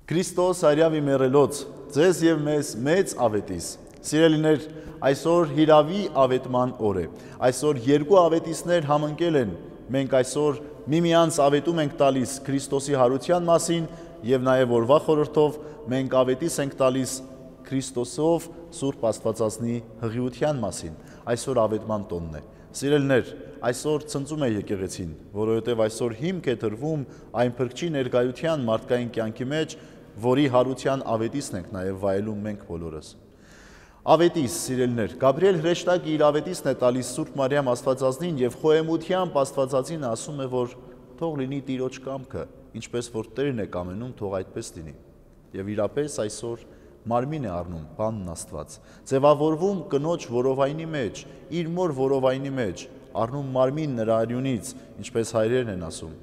Քրիստոս արյավի մեռելոց, ձեզ և մեզ մեծ ավետիս։ Սիրելիներ, այսօր հիրավի ավետման օր է։ Այսօր երկու ավետիսներ համընկել են։ Մենք այսօր միմյանց ավետում ենք տալիս Քրիստոսի հարության մասին և նաև օրվա խորհրդով մենք ավետիս ենք տալիս Քրիստոսով Սուրբ Աստվածածնի հղիության մասին։ Այսօր ավետման տոնն է։ Սիրելիներ, այսօր ցնծում է եկեղեցին, որովհետև այսօր հիմք է դրվում այն Փրկչի ներկայության մարդկային կյանքի մեջ, որի հարության ավետիսն ենք նաև վայելում մենք բոլորս։ Ավետիս, սիրելիներ, Գաբրիել հրեշտակը իր ավետիսն է տալիս Սուրբ Մարիամ Աստվածածնին և խոհեմությամբ Աստվածածին ասում է, որ թող լինի Տիրոջ կամքը, ինչպես որ Տերն է կամենում, թող այդպես լինի։ Եվ իրապես այսօր մարմին է առնում բանն Աստված, ձևավորվում կնոջ որովայնի մեջ, իր մոր որովայնի մեջ, առնում մարմին նրա արյունից, ինչպես հայրերն են ասում,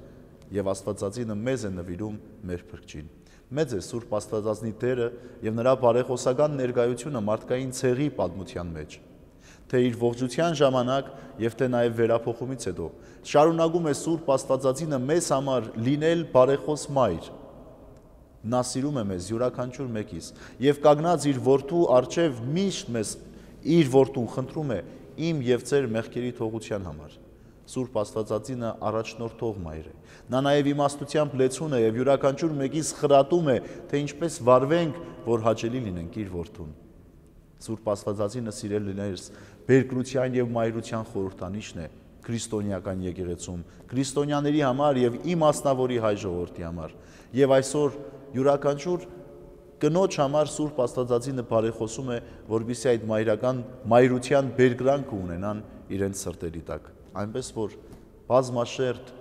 և Աստվածածինը մեզ է նվիրում մեր Փրկչին։ Մեծ է Սուրբ Աստվածածնի դերը և նրա բարեխոսական ներկայությունը մարդկային ցեղի պատմության մեջ, թե իր ողջության ժամանակ և թե նաև վերափոխումից հետո շարունակում է Սուրբ Աստվածածինը մեզ համար լինել բարեխոս մայր։ Նա սիրում է մեզ յուրաքանչյուր մեկից և կանգնած իր որդու առջև միշտ մեզ իր որդուն խնդրում է իմ և ձեր մեղքերի թողության համար։ Սուրբ Աստվածածինը առաջնորդող մայր է։ Նա նաև իմաստությամբ լեցուն է և յուրաքանչյուր մեկից խրատում է, թե ինչպես վարվենք, որ հաճելի լինենք իր որդուն։ Սուրբ Աստվածածինը, սիրելիներս, բերկրության և մայրության խորհրդանիշն է քրիստոնեական եկեղեցում, քրիստոնյաների համար և իմ մասնավորի հայ ժողովրդի համար։ Եվ այսօր յուրաքանչյուր կնոջ համար Սուրբ Աստվածածինը բարեխոսում է, որպեսզի այդ մայրության բերկրանքը ունենան իրենց սրտերի տակ։ Այնպես որ բազմաշերտ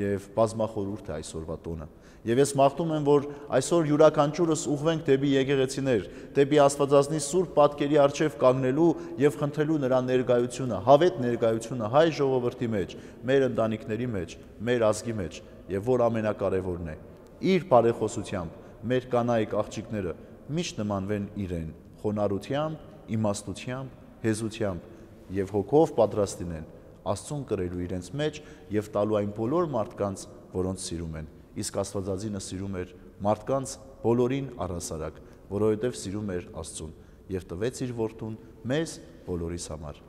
և բազմախորհուրդ է այսօրվա տոնը։ Եվ ես մաղթում եմ, որ այսօր յուրաքանչյուրս ուղղվենք դեպի եկեղեցիներ, դեպի Աստվածածնի սուրբ պատկերի առջև կանգնելու և խնդրելու նրա ներկայությունը, հավետ ներկայությունը հայ ժողովրդի մեջ, մեր ընտանիքների մեջ, մեր ազգի մեջ, և որ ամենակարևորն է, իր բարեխոսությամբ մեր կանայք աղջիկները միշտ նմանվեն իրեն, խոնարհությամբ, իմաստությամբ, հեզությամբ և հոգով պատրաստ լինեն Աստծուն կրելու իրենց մեջ և տալու այն բոլոր մարդկանց, որոնց սիրում են։ Իսկ Աստվածածինը սիրում էր մարդկանց բոլորին առհասարակ, որովհետև սիրում էր Աստծուն և տվեց իր որդուն մեզ բոլորիս համար։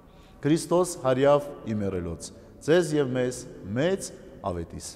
Քրիստոս հարյավ ի մեռելոց, ձեզ և մեզ մեծ ավետիս։